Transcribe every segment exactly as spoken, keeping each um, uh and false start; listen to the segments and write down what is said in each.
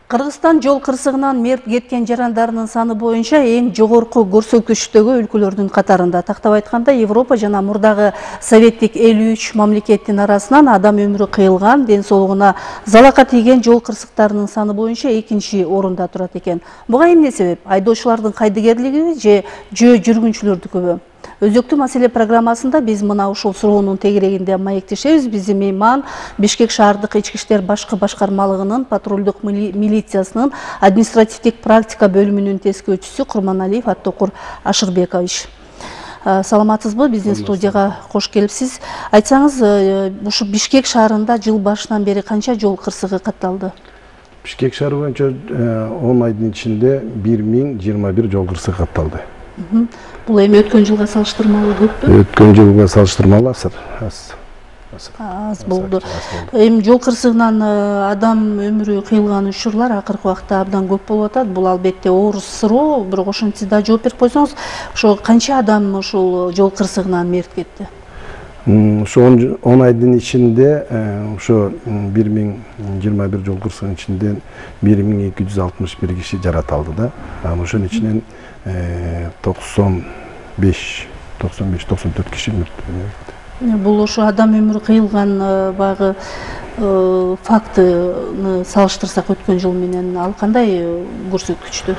Кыргызстан жол кырсыгынан мерт кеткен жарандарынын саны боюнча эң жогорку көрсөткүчтөгү өлкөлөрдүн катарында. Тактап айтканда, Европа жана мурдагы советтик элүү үч мамлекеттин арасынан адам өмүрү кыйылган, ден соолугуна залака тийген жол кырсыктарынын саны боюнча экинчи орунда турат экен. Буга эмне себеп? Айдоочулардын кайдыгерлиги же жөө жүргүнчүлөрдүкүбү? Өзөктүү маселе программасында биз мына ушул суроонун тегерегинде маектешебиз. Биздин мейман Бишкек шаардык ички иштер башкы башкармалыгынын патрулдук милициясынын административдик практика бөлүмүнүн тескөөчүсү Курманалиев Аттокур Ашырбекович. Саламатсызбы? Биздин студияга кош келипсиз. Айтсаңыз, ушу Бишкек шаарында жыл башынан бери канча жол кырсыгы катталды? Бишкек шаары боюнча он айдын ичинде бир миң жыйырма бир жол кырсыгы катталды. Бул эми өткөн жылга салыштырмалуу көппү? Өткөн жылга салыштырмалуу аз. Аз болду. Эми жол кырсыгынан адам өмүрү кыйылган учурлар акыркы убакта абдан көп болуп атат. Бул албетте оор суроо, бирок ошентсе да жооп берип койсоңуз, ошо канча адам ушул жол кырсыгынан мерт кетти? Ошо он айдын ичинде ошо бир миң жыйырма бир жол кырсыгынын ичинде бир миң эки жүз алтымыш бир киши жараталды да. Ошонун ичинен токсон беш токсон төрт киши мерт. Бул ошо адам өмүрү кыйылган багы фактыны салыштырсак өткөн жыл менен ал кандай көрсөткүчтү?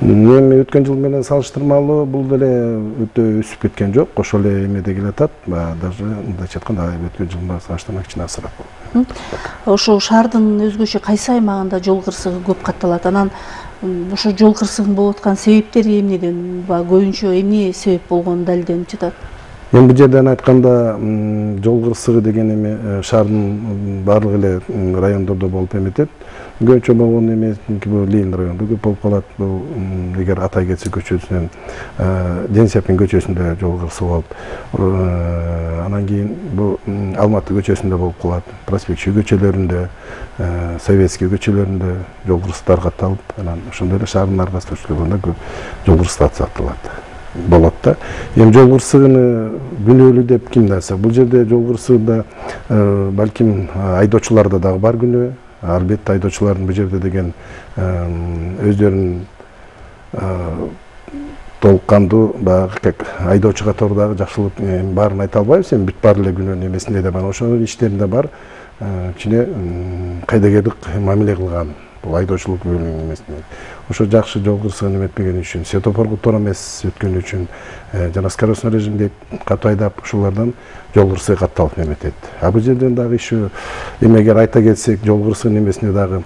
Эми өткөн жыл менен салыштырмалуу бул деле өтө өсүп кеткен жок. Ошол эле эмеде келатат. Даже мындайча айтканда өткөн жыл менен салыштырмак кичине азыраак болот. Ошо шаардын өзгөчө кайсы аймагында жол кырсыгы көп катталат? Анан ошо жол кырсыгынын болуп аткан себептери эмнеден? Көбүнчө эмне себеп болгону далилденип жатат? Эми бул жерден айтканда, жол кырсыгы деген эми шаардын баардык эле райондордо болуп эметет. Көбүнчө болгон эми бул Ленин районунда көп болуп калат. Бул эгер Атай кетсе көчөсүнөн Денисапин көчөсүндө жол кырсыгы болуп, анан кийин бул Алматы көчөсүндө болуп калат. Проспектчи көчөлөрүндө, Советский көчөлөрүндө жол кырсыктар катталып, анан ошондой эле шаардын ар кайсы көчөлөрүндө көп жол кырсыктар катталат. Болот да. Эми жол кырсыгыны күнөөлүү деп ким десе, бул жерде жол кырсыгында балким айдоочуларда дагы бар күнөө. Албетте айдоочулардын бул жерде деген өздөрүнүн толук кандуу баягы как айдоочу катары дагы жакшылык баарын айта албайбыз, эми бүт бар эле күнөөнүн эмесинде да бар. Ошонун иштеринде бар кичине кайдыгерлик мамиле кылган. Бул айдоочулук бөлүмүнүн эмесинде. Ошо жакшы жол кырсыгын эметпеген үчүн, светофорго туура эмес өткөн үчүн жана скоростной режимде катуу айдап, ушулардан жол кырсыгы катталып эметет. А бул жерден дагы еще эмегер айта кетсек, жол кырсыгынын эмесине дагы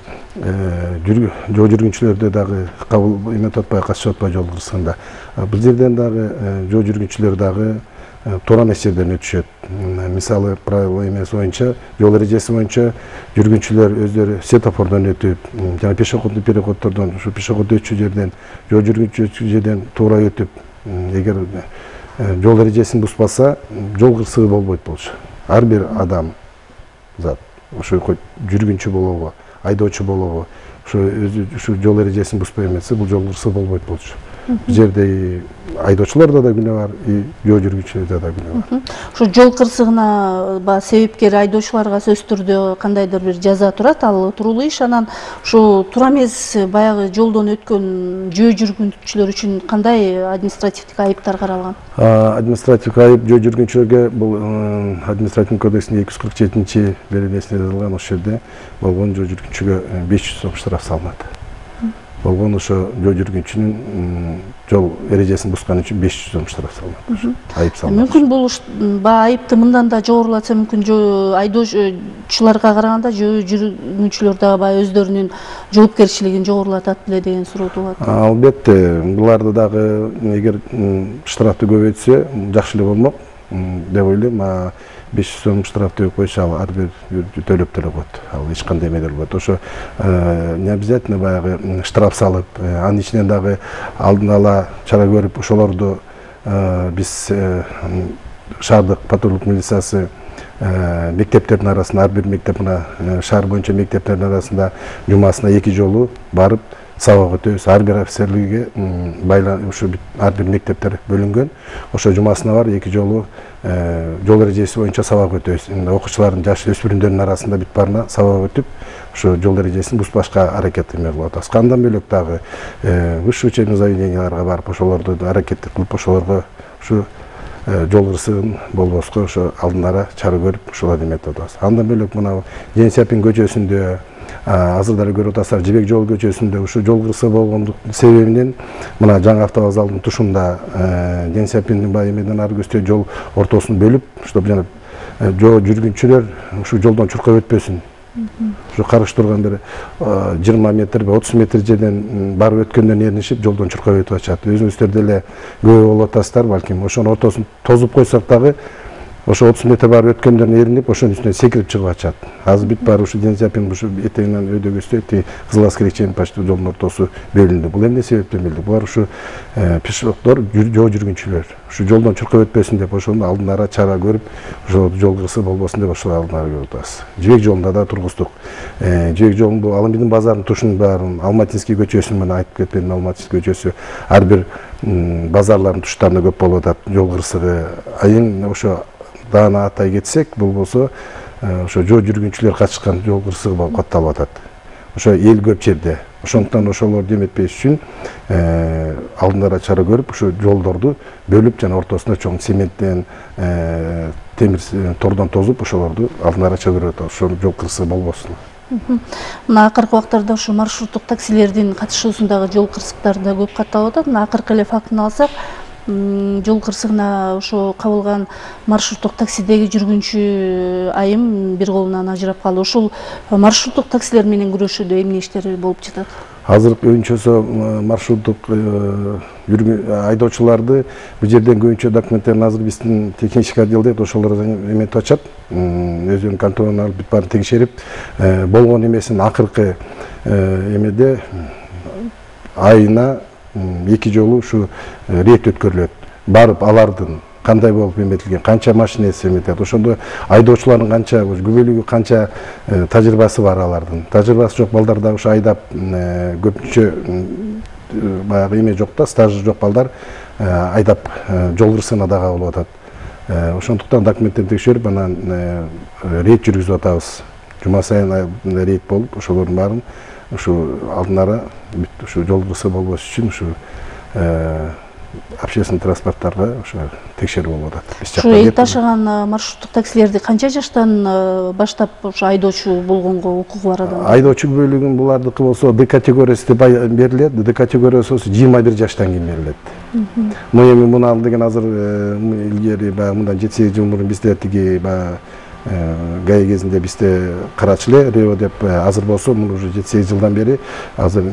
жол жүргүнчүлөрдө дагы кабыл эметип атпай, катышып атпай жол кырсыгында. Бул жерден дагы жол жүргүнчүлөр дагы туура эмес жерден өтүшөт. Мисалы, правила эмеси боюнча, жол эрежеси боюнча жүргүнчүлөр өздөрү светофордон өтүп, жана пешеходный переходдордон, ушу пешеход өтчү жерден, жол жүргүнчү өтчү жерден туура өтүп, эгер жол эрежесин бузбаса, жол кырсыгы болбойт болчу. Ар бир адам зат, ошо жүргүнчү болобу, айдоочу болобу, ошо ушу жол эрежесин бузбай эмесе, бул жол кырсыгы болбойт болчу. Бул жерде айдоочуларда да күнөө бар, жол жүргүнчүлөрдө да күнөө бар. Ошо жол кырсыгына себепкер айдоочуларга сөзсүз түрдө кандайдыр бир жаза турат, ал туруулуу иш. Анан ушу туура эмес баягы жолдон өткөн жөө жүргүнчүлөр үчүн кандай административдик айыптар каралган? Административдик айып жөө жүргүнчүлөргө бул административдик кодекстин эки жүз кырк жетинчи беренесинде жазылган, ошол жерде болгон жөө жүргүнчүгө беш жүз сом штраф салынат. Болгон ошо жол жүргүнчүнүн жол эрежесин бузган үчүн беш жүз сом штраф салынат. Айып салынат. Мүмкүн бул айыпты мындан да жогорулатса мүмкүн, айдоочуларга караганда жөө жүргүнчүлөр дагы баягы өздөрүнүн жоопкерчилигин жогорулатат беле деген суроо туулат. Албетте, буларды дагы эгер штрафты көбөйтсө жакшы эле болмок деп ойлойм. беш жүз сом штрафты койсо, ал ар бир төлөп деле коет. Ал эч кандай эме болбойт. Ошо не обязательно баягы штраф салып, анын ичинен дагы алдын ала чара көрүп, ошолорду биз шаардык патрулдук милициясы мектептердин арасында, ар бир мектеп, мына шаар боюнча мектептердин арасында жумасына эки жолу барып, сабак өтөбүз. Ар бир офицерлиге ушу ар бир мектептер бөлүнгөн. Ошо жумасына бар эки жолу жол эрежеси боюнча сабак өтөбүз. Окуучулардын, жаш өспүрүмдөрдүн арасында бүт баарына сабак өтүп, ошо жол эрежесин бузбашка аракет эме кылып атабыз. Андан бөлөк дагы высшее учебный заведенияларга барып, ошолорду аракет кылып, ошолорго ушу жол кырсыгын болбоско ошо алдындара чара көрүп, ошолорду эметип атабыз. Андан бөлөк мына Ден Сяопин көчөсүндө, азыр деле көрүп атасыздар, Жибек жолу көчөсүндө ушу жол кырсыгы болгондук себебинен мына жаңы автовокзалдын тушунда Ден Сяопиндин баягы эмеден ары көстө жол ортосун бөлүп, чтобы жана жол жүргүнчүлөр ушу жолдон чуркап өтпөсүн. Ушу карыш турган бир жыйырма метр, отуз метр жерден барып өткөндөн эринишип, жолдон чуркап өтүп атышат. Өзүңүздөр деле күбө болуп атасыздар, балким ошонун ортосун тозуп койсок дагы, ошо отуз метр барып өткөндөн эринип, ошонун үстүнөн секирип чыгып атышат. Азыр бүт баары ушу Ден Сяопин ушу этегинен өйдөгөстө ти Кызыл Аскерге чейин почти жолдун ортосу бөлүндү. Бул эмне себептен бөлдү? Булар ушу пешеходдор, жол жүргүнчүлөр ушу жолдон чуркап өтпөсүн деп, ошону алдындара чара көрүп, ошо жол кырсыгы болбосун деп ошо алдындара көрүп атабыз. Жибек жолунда да тургуздук. Жибек жолунун бул Алмидин базарынын тушунун баарын, Алматинский көчөсүн менен айтып кетпедим, Алматинский көчөсү ар бир базарлардын туштарында көп болуп атат жол кырсыгы. Айын ошо даана атай кетсек, бул болсо ошо жол жүргүнчүлөр катышкан жол кырсыгы болуп катталып атат. Ошо эл көп жерде. Ошондуктан ошолорду эметпеш үчүн алдындара чара көрүп, ошо жолдорду бөлүп жана ортосуна чоң цементтен, темир тордон тозуп, ошолорду алдындара чара көрүп атабыз. Ошол жол кырсыгы болбосун. Мына акыркы убактарда ушу маршруттук таксилердин катышуусундагы жол кырсыктары да көп катталып атат. Мына акыркы эле фактыны алсак, жол кырсыгына ошо кабылган маршруттук таксидеги жүргүнчү айым бир колунан ажырап калды. Ушул маршруттук таксилер менен күрөшүүдө эмне иштер болуп жатат? Азыр көбүнчөсү маршруттук айдоочуларды бул жерден көбүнчө документтерин азыр биздин технический отдел дейт, ошолор эметип атышат. Өзүнүн контролуна алып бүт баарын текшерип, болгон эмесин акыркы эмеде айына эки жолу ушу рейд өткөрүлөт. Барып алардын кандай болуп эметилген, канча машинеси эметет, ошондо айдоочулардын канча күбөлүгү, канча тажрыйбасы бар алардын. Тажрыйбасы жок балдар дагы ушу айдап көпүнчө баягы эме жок да, стажы жок балдар айдап жол кырсыгына дагы кабылып атат. Ошондуктан документтерди текшерип, анан рейд жүргүзүп атабыз. Жума сайын рейд болуп, ошолордун баарын ушу алдындара ушу жол кырсыгы болбош үчүн ушу общественный транспорттарга ошо текшерүү болуп атат. Ушу эл ташыган маршруттук таксилерди канча жаштан баштап ошо айдоочу болгонго укугу бар адам? Айдоочу бөлүгүн булардыкы болсо Д категориясы деп берилет. Д категориясы болсо жыйырма бир жаштан кийин берилет. Мына эми муну деген азыр илгери баягы мындан жети сегиз жыл мурун бизде тиги баягы гай кезинде бизде карачу эле Рео деп, азыр болсо муну уже жети сегиз жылдан бери азыр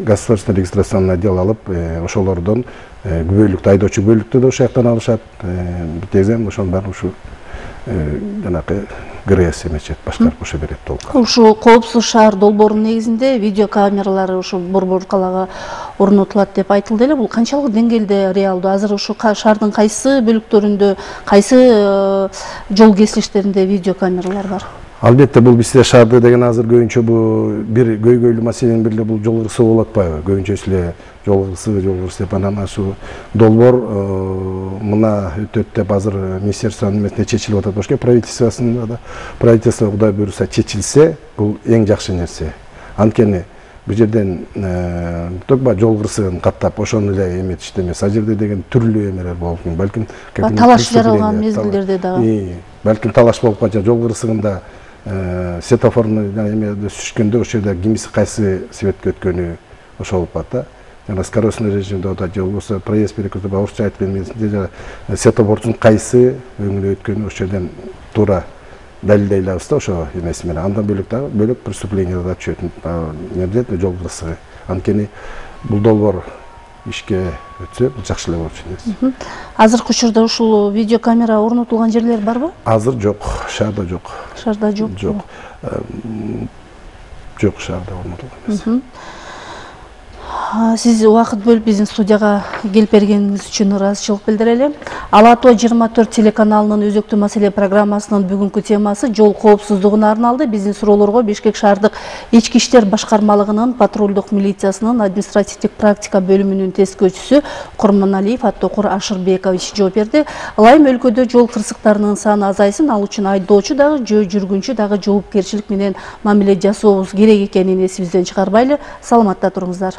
государственный регистрационный отдел алып, ошолордон күбөлүктү айдоочу күбөлүктү да ошол жактан алышат. Бүтезем ошонун баары ушу жанакы ГРС эметет, башкарып ошо берет толук. Ушу коопсуз шаар долбоорунун негизинде видео камералары ушу Борбор калаага орнотулат деп айтылды эле. Бул канчалык деңгээлде реалдуу? Азыр ушу шаардын кайсы бөлүктөрүндө, кайсы жол кесилиштеринде видео камералар бар? Албетте бул бизде шаарда деген азыр көбүнчө бул бир көйгөйлүү маселенин бири эле бул жол кырсыгы болуп атпайбы? Көбүнчөсү эле жол кырсыгы, жол кырсыгы деп анан ашу долбоор мына өтөт деп азыр министерствонун эмесинде чечилип атат. Башка правительствосунда да, правительство Кудай буйруса чечилсе, бул эң жакшы нерсе. Анткени бул жерден токба жол кырсыгын каттап, ошону эле эметишти эмес. А жерде деген түрлүү эмелер болуп, балким талаш жаралган мезгилдерде дагы. Балким талаш болуп калса, жол кырсыгында светофорну эмеде сүшкөндө ошол жерде кимиси кайсы светке өткөнү ошол болуп атат. Жана скоростной режимде да же болбосо проезд перекресток орусча айтып эмесинде светофордун кайсы өңүнө өткөнү ошол жерден туура далилдей алабыз да ошо эмеси менен. Андан бөлөк дагы бөлөк преступление да түшөт. Эмне жол кырсыгы. Анткени бул долбоор ишке өтсө жакшы эле болчу. Азыркы учурда ушул видео камера орнотулган жерлер барбы? Азыр жок, шаарда жок. Шаарда жок. Жок. Жок, шаарда орнотулган эмес. Сиз убакыт бөлүп биздин студияга келип бергениңиз үчүн ыраазычылык билдирели. Ала Тоо жыйырма төрт телеканалынын өзөктүү маселе программасынын бүгүнкү темасы жол коопсуздугуна арналды. Биздин суроолорго Бишкек шаардык ички иштер башкармалыгынын патрулдук милициясынын административдик практика бөлүмүнүн тескөөчүсү Курманалиев Аттокур Ашырбекович жооп берди. Ылайым өлкөдө жол кырсыктарынын саны азайсын, ал үчүн айдоочу дагы, жөө жүргүнчү дагы жоопкерчилик менен мамиле жасообуз керек экенин эсибизден чыгарбайлы. Саламатта туруңуздар.